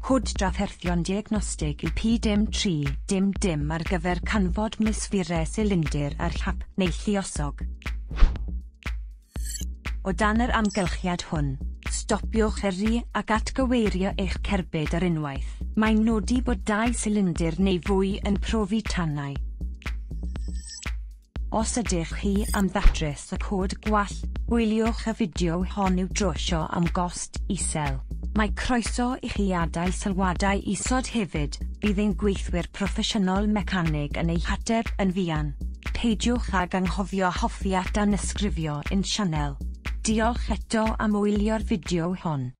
Cod drafferthion diagnostig yw P dim 3 dim dim ar gyfer canfod misfirau silindr ar hap neu lluosog. O dan yr amgylchiad hwn, stopiwch yrru ac atgyweirio eich cerbyd ar unwaith. Mae'n nodi bod dau silindr neu fwy yn profi tanau. Os ydych chi am ddatrys y cod gwall, gwyliwch y fideo hon i'w drwsio am gost isel. Mae croeso i chi adael sylwadau isod hefyd, bydd ein gweithwyr proffesiynol mecanig yn eu hateb yn fuan. Peidiwch ag anghofio hoffi a danysgrifio i'n sianel. Diolch eto am wylio'r fideo hon.